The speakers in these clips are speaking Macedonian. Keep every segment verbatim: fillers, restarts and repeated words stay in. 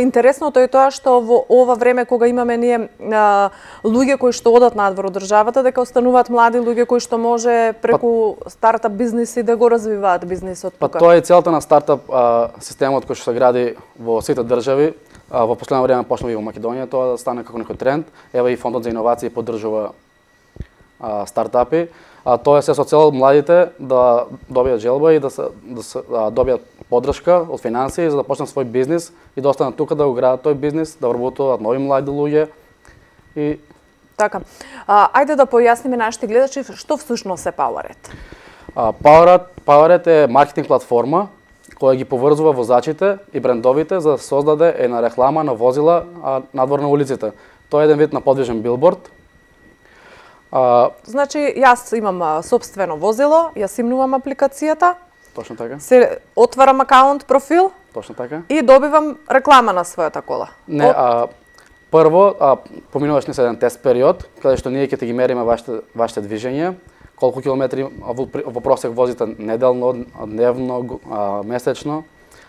интересното е тоа што во ова време кога имаме ние а, луѓе кои што одат надвор од државата, дека остануваат млади луѓе кои што може преку па, стартап бизниси да го развиваат бизнисот тука. Па тоа е целта на стартап а, системот кој што се гради во сите држави. А, во последно време почнува и во Македонија тоа да стане како некој тренд. Ева и фондот за иновации поддржува а, стартапи. А тоа е се со цел младите да добијат желба и да се да се да добијат поддршка од финансии за да почнат свој бизнис и да останат тука да го градат тој бизнис, да вработуваат нови млади луѓе и така. А, ајде да појасниме нашите гледачи што всушност е Powered. А, Powered, Powered е маркетинг платформа која ги поврзува возачите и брендовите за да создаде една реклама на возила а, надвор на улиците. Тоа е еден вид на подвижен билборд. А, значи, јас имам а, собствено возило, јас имнувам апликацијата. Точно така. Се отварам акаунт, профил. Точно така. И добивам реклама на својата кола. Не, От... а, прво, а, поминуваш не еден тест период, каде што ние ќе ти ги мериме вашите, вашите движења, колку километри во, во просек возите неделно, дневно, а, месечно,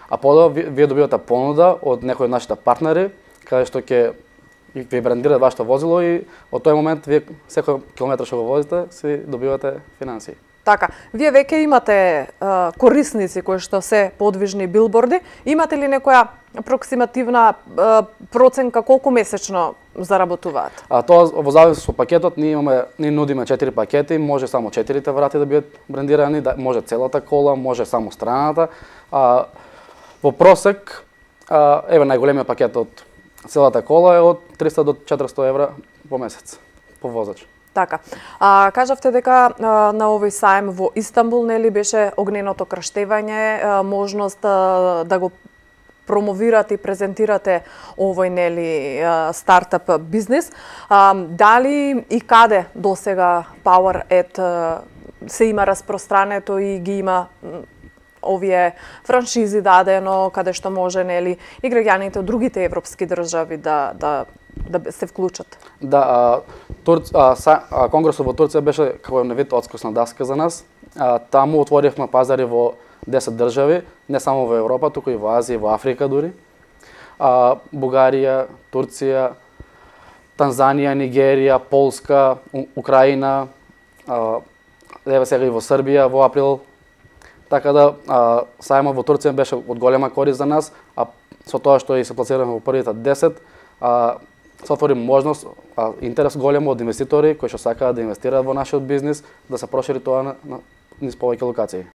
а подоа вие добивате понуда од некој од нашите партнери, каде што ќе ви брендираат вашето возило и од тој момент вие секој километар што го возите си добивате финансии. Така, вие веќе имате а, корисници кои што се подвижни билборди. Имате ли некоја апроксимативна а, проценка колку месечно заработуваат? А тоа во зависност од пакетот, ние имаме ние нудиме четири пакети, може само четирите врати да бидат брендирани, да, може целата кола, може само страната. А, во просек, а, еве најголемиот пакет од целата кола е од триста до четиристо евра по месец по возач. Така. А, кажавте дека а, на овој сајм во Истанбул нели беше огненото крштевање, а, можност а, да го промовирате и презентирате овој нели а, стартап бизнис. А, дали и каде досега Powered а, се има распространето и ги има овие франшизи дадено каде што може нели и граѓаните од другите европски држави да да да се вклучат? Да, а, Турц, а, са, а, Конгресот во Турција беше како на вид одскосна даска за нас. А, таму отворивме пазари во десет држави, не само во Европа, туку и во Азија, во Африка дури. А, Бугарија, Турција, Танзанија, Нигерија, Полска, У, Украина, а, еве сега и во Србија во април. Така да а, сајмот во Турција беше од голема корист за нас, а со тоа што и се пласираме во првите десет, а, се отвори можност, а, интерес голем од инвеститори кои што сакаат да инвестираат во нашиот бизнис, да се прошири тоа на, на низ повеќе локации.